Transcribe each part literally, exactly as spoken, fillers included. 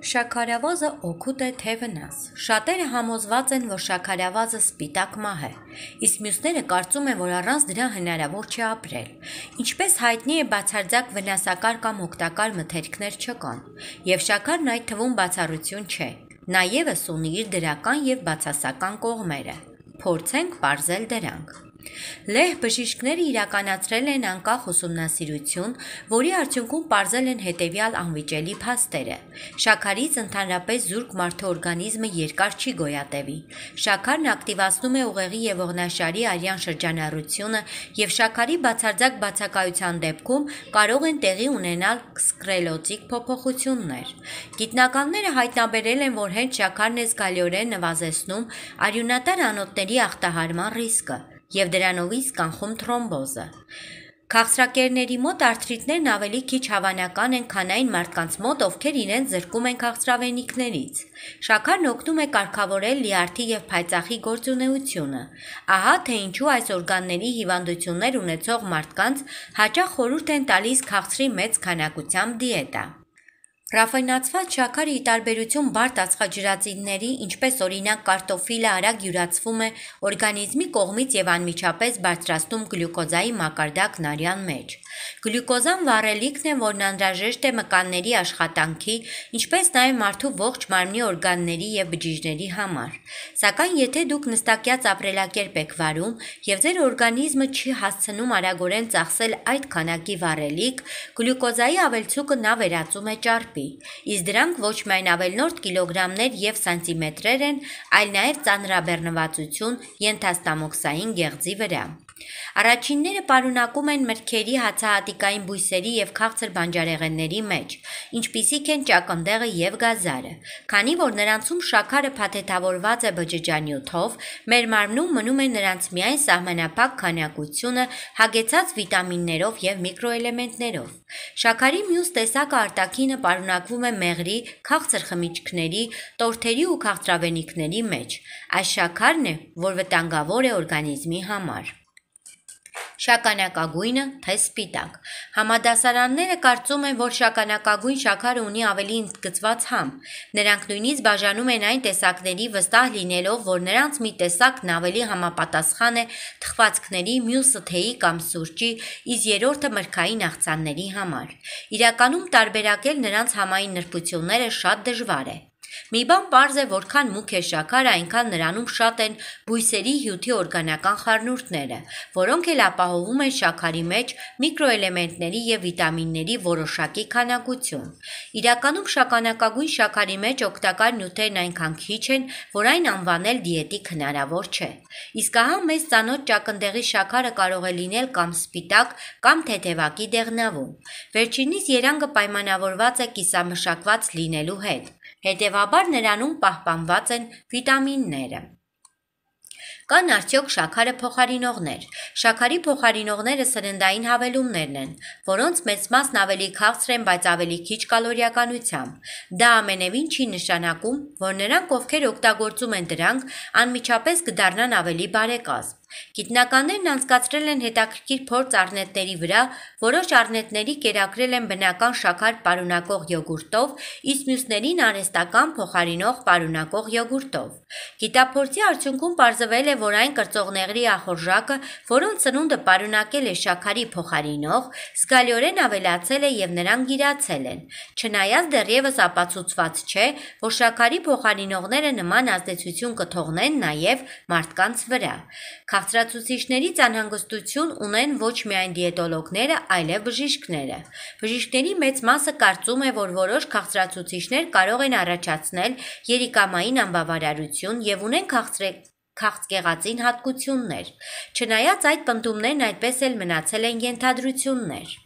Շաքարավազը օգուտ է թե վնաս։ Շատերը համոզված են, որ շաքարավազը սպիտակ մահ է, իսկ մյուսները կարծում են, որ առանց դրա հնարավոր չէ ապրել։ Ինչպես հայտնի է, բացարձակ վնասակար կամ օգտակար մթերքներ չկան, եւ շաքարն այդ թվում բացառություն չէ։ Նա ևս ունի իր դրական եւ բացասական կողմերը։ Փորձենք պարզել դրանք։ Լեհ բժիշկները իրականացրել են անկախ ուսումնասիրություն, որի արդյունքում պարզել են հետևյալ անվիճելի փաստերը։ Շաքարից ընդհանրապես զուրկ մարդու օրգանիզմը երկար չի գոյատևի։ Շաքարն ակտիվացնում է ուղեղի եւ ողնաշարի արյան շրջանառությունը եւ շաքարի բացարձակ բացակայության դեպքում կարող են տեղի ունենալ սկլերոտիկ փոփոխություններ։ Գիտնականները հայտնաբերել են, որ հենց շաքարն է զգալիորեն նվազեցնում արյունատար անոթների ախտահարման ռիսկը եւ դրանովից կանխում թրոմբոզը։ Քաղցրակերների մոտ արթրիտներն ավելի քիչ հավանական են, քան այն մարդկանց մոտ, ովքեր իրենց զրկում են քաղցրավենիքներից։ Շաքարն օգնում է կարգավորել լյարդի եւ փայծաղի գործունեությունը։ Ահա թե ինչու այս օրգանների հիվանդություններ ունեցող մարդկանց հաճախ խորհուրդ են տալիս քաղցրի մեծ քանակությամբ դիետա։ Ռաֆինացված շաքարը ի տարբերություն բարդ ածխաջրածինների, ինչպես օրինակ կարտոֆիլը, արագ յուրացվում է օրգանիզմի կողմից եւ անմիջապես բարձրացնում գլյուկոզայի մակարդակն արյան մեջ։ Գլյուկոզան վառելիքն է, որն անհրաժեշտ է մկանների աշխատանքի, ինչպես նաեւ մարդու ողջ մարմնի օրգանների եւ բջիջների համար։ Սակայն եթե դուք նստակյաց ապրելակերպ եք վարում եւ ձեր օրգանիզմը չի հասցնում արագորեն ծախսել այդ քանակի վառելիք, գլյուկոզայի ավելցուկը նա վերածում է ճարպի։ Իսկ դրանք ոչ միայն ավելնորդ կիլոգրամներ եւ սանտիմետրեր են, այլ նաեւ ծանրաբեռնվածություն ենթաստամոքսային գեղձի վրա։ Առաջինները պարունակում են մրգերի, հացահատիկային բույսերի եւ քաղցր բանջարեղենների մեջ, ինչպիսիք են ճակնդեղը եւ գազարը։ Քանի որ նրանցում շաքարը փաթեթավորված է բջջանյութով, մեր մարմնում մնում է նրանց միայն սահմանափակ քանակությունը հագեցած վիտամիններով եւ միկրոէլեմենտներով։ Շաքարի մյուս տեսակը արտաքինը պարունակվում է մեղրի, քաղցր խմիչքների, տորթերի ու քաղցրավենիքների մեջ։ Այս շաքարն է, որ վտանգավոր է օրգանիզմի համար։ Շագանակագույնը թե սպիտակ։ Համադասարանները կարծում են, որ շագանակագույն շաքարը ունի ավելի ընդգծված համ։ Նրանք նույնիսկ բաժանում են այն տեսակների, վստահ լինելով, որ նրանց մի տեսակն ավելի համապատասխան է թխվածքների, մյուսը թեյի կամ սուրճի, իսկ երրորդը մրգային աղցանների համար։ Իրականում տարբերակել նրանց համային նրբությունները շատ դժվար է։ Մի բան պարզ է, որքան մուգ է շաքարը, այնքան նրանում շատ են բույսերի հյութի օրգանական խառնուրդները, որոնք էլ ապահովում են շաքարի մեջ միկրոէլեմենտների եւ վիտամինների որոշակի քանակություն։ Իրականում շագանակագույն շաքարի մեջ օգտակար նյութերն այնքան քիչ են, որ այն անվանել դիետիկ հնարավոր չէ։ Իսկ ահա մեզ ծանոթ ճակնդեղի շաքարը կարող է լինել կամ սպիտակ, կամ թեթևակի դեղնավուն։ Վերջինիս երանգը պայմանավորված է կիսամշակված լինելու հետ։ Հետևաբար նրանում պահպանված են վիտամինները։ Կան արդյոք շաքարը փոխարինողներ։ Շաքարի փոխարինողները սննդային հավելումներն են, որոնց մեծ մասն ավելի քաղցր են, բայց ավելի քիչ կալորիականությամբ։ Դա ամենևին չի նշանակում, որ նրանք, ովքեր օգտագործում են դրանք, անմիջապես կդառնան ավելի բարեկազմ։ Գիտնականներն անցկացրել են հետաքրքիր փորձ առնետների վրա, որոշ առնետների կերակրել են բնական շաքար պարունակող յոգուրտով, իսկ մյուսներին արհեստական փոխարինող պարունակող յոգուրտով։ Գիտափորձի արդյունքում պարզվել է, որ այն կրծողների ախորժակը, որոնց սնունդը պարունակել է շաքարի փոխարինող, զգալիորեն ավելացել է եւ նրանք գիրացել են։ Չնայած դեռևս ապացուցված չէ, որ շաքարի փոխարինողները նման ազդեցություն կթողնեն նաեւ մարդկանց վրա։ Քաղցրացուցիչներից անհանգստություն ունեն ոչ միայն դիետոլոգները, այլև բժիշկները։ Բժիշկների մեծ մասը կարծում է, որ որոշ քաղցրացուցիչներ կարող են առաջացնել երիկամային անբավարարություն եւ ունեն քաղցրե քաղցկեղածին հատկություններ։ Չնայած այդ պնդումներն այդպես էլ մնացել են ենթադրություններ։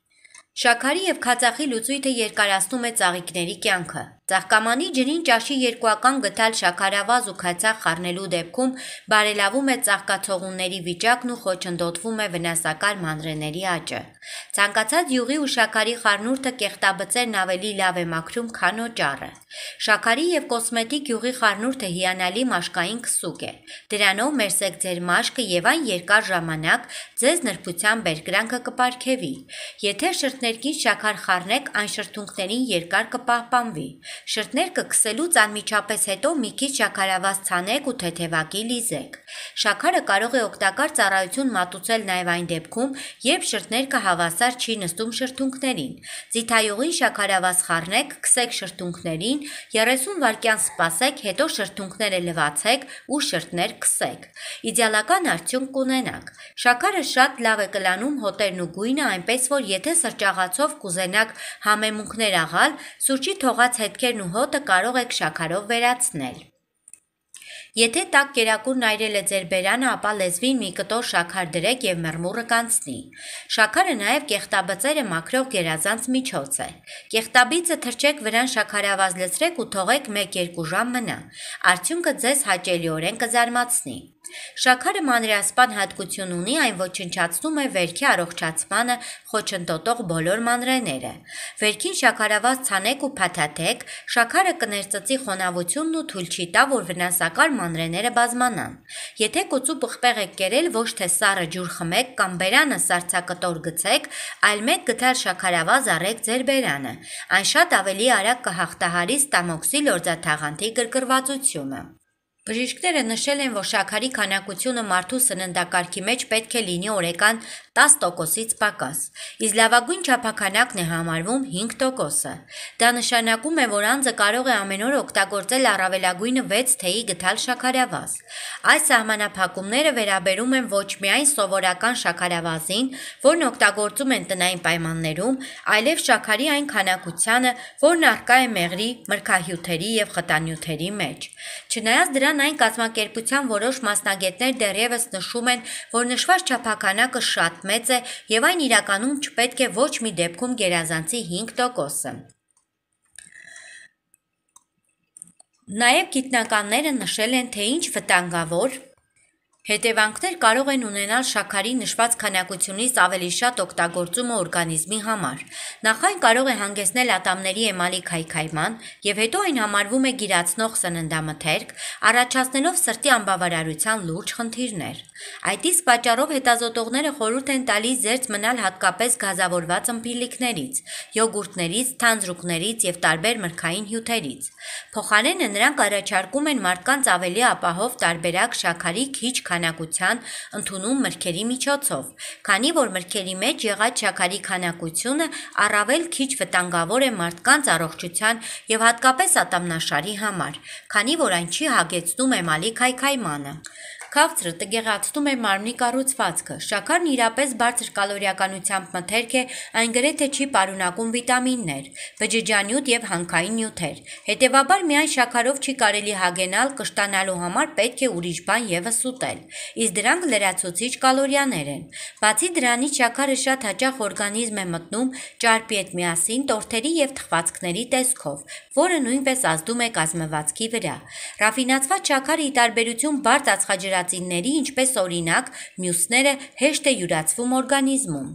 Շաքարի եւ քացախի լուծույթը երկարացնում է ծաղիկների կյանքը։ Ծաղկամանի ջրին ճաշի երկուական գտալ շաքարավազ ու քացախ խառնելու դեպքում բարելավում է ծաղկացողունների վիճակն ու խոչընդոտվում է վնասակար մանրէների աճը։ Ցանկացած յուղի ու շաքարի խառնուրդը կեղտաբծերն ավելի լավ է մաքրում, քան օճառը։ Շաքարի եւ կոսմետիկ յուղի խառնուրդը հիանալի մաշկային քսուկ է։ Դրանով մերսեք ձեր մաշկը եւ այն երկար ժամանակ ձեզ նրբության բերկրանքը կպարգևի։ Եթե շրթներքից շաքար խառնեք, այն շրթունքներին երկար կպահպանվի։ Շրթներկը քսելուց անմիջապես հետո մի քիչ շաքարավազ ցանեք ու թեթևակի լիզեք։ Շաքարը կարող է օգտակար ծառայություն մատուցել նաև այն դեպքում, երբ շրթներկը հավասար չի նստում շրթունքներին։ Ձիթայուղին շաքարավազ խառնեք, քսեք շրթունքներին, երեսուն վայրկյան սպասեք, հետո շրթունքները լվացեք ու շրթներ քսեք։ Իդեալական արդյունք կունենաք։ Շաքարը շատ լավ է կլանում հոտերն ու գույնը, այնպես որ եթե սրճաղացով կուզենաք համեմունքներ աղալ, սուրճի թողած հետքերն ու հոտը կարող եք շաքարով վերացնել։ Եթե տաք կերակուրն այրել է ձեր բերանը, ապա լեզվին մի կտոր շաքար դրեք եւ մռմուռը կանցնի։ Շաքարը նաև կեղտաբծերը մաքրող գերազանց միջոց է։ Կեղտաբիծը թրջեք վրան շաքարավազ լցրեք ու թողեք մեկ-երկու ժամ մնա։ Արդյունքը ձեզ հաճելիորեն կզարմացնի։ Շաքարը մանրեասպան հատկություն ունի, այն ոչնչացնում է վերքի առողջացմանը խոչընդոտող բոլոր մանրեները։ Վերքին շաքարավազ ցանեք ու փաթաթեք, շաքարը կներծծի խոնավությունն ու թույլ չի տա, որ վնասակար մանրեները բազմանան։ Եթե կոծու պղպեղ եք կերել, ոչ թե սառը ջուր խմեք կամ բերանը սառցակտոր գցեք, այլ մեկ գդալ շաքարավազ առեք ձեր բերանը։ Այն շատ ավելի արագ կհաղթահարի ստամոքսի լորձաթաղանթի գրգռվածությունը։ Բժիշկները նշել են, որ շաքարի քանակությունը մարդու սննդակարգի մեջ պետք է լինի օրական տասը տոկոսից պակաս, իսկ լավագույն չափաքանակն է համարվում հինգ տոկոսը։ Դա նշանակում է, որ անձը կարող է ամեն օր օգտագործել առավելագույնը վեց թեյի գդալ շաքարավազ։ Այս սահմանափակումները վերաբերում են ոչ միայն սովորական շաքարավազին, որն օգտագործում են տնային պայմաններում, այլև շաքարի այն քանակությանը, որն առկա է մեղրի, մրգահյութերի եւ խտանյութերի մեջ։ Չնայած դրան այն կազմակերպության որոշ մասնագետներ դեռևս նշում են, որ նշված չափականակը շատ մեծ է եւ այն իրականում չպետք է ոչ մի դեպքում գերազանցի հինգ տոկոսը։ Նաև գիտնականները նշել են, թե ինչ վտանգավոր հետևանքներ կարող են ունենալ շաքարի նշված քանակությունից ավելի շատ օգտագործումը օրգանիզմի համար։ Նախ այն կարող է հանգեցնել ատամների էմալի քայքայման եւ հետո այն համարվում է գիրացնող սննդամթերք, առաջացնելով սրտի անբավարարության լուրջ խնդիրներ։ Այդ իսկ պատճառով հետազոտողները խորհուրդ են տալիս զերծ մնալ հատկապես գազավորված ըմպելիքներից, յոգուրտներից, թանձրուկներից եւ տարբեր մրգային հյութերից։ Փոխարենը նրանք առաջարկում են մարդկանց ավելի ապահով տարբերակ շաքարի քիչ քանակության ընդունում մրգերի միջոցով, քանի որ մրգերի մեջ եղած շաքարի քանակությունը առավել քիչ վտանգավոր է մարդկանց առողջության եւ հատկապես ատամնաշարի համար, քանի որ այն չի հագեցնում էմալի քայքայմանը։ Քաղցրը տգեղացնում է մարմնի կառուցվածքը։ Շաքարն իրապես բարձր կալորիականությամբ մթերք է, այն գրեթե չի պարունակում վիտամիններ, բջջանյութ եւ հանքային նյութեր։ Հետևաբար միայն շաքարով չի կարելի հագենալ, կշտանալու համար պետք է ուրիշ բան եւս ուտել, իսկ դրանք լրացուցիչ կալորիաներ են։ Բացի դրանից շաքարը շատ հաճախ օրգանիզմ է մտնում ճարպի հետ միասին տորթերի եւ թխվածքների տեսքով, որը նույնպես ազդում է կազմվածքի վրա։ Ռաֆինացված շաքարը ի տարբերություն բարդ ածխաջրածինների, ինչպես օրինակ, մյուսները հեշտ է յուրացվում օրգանիզմում։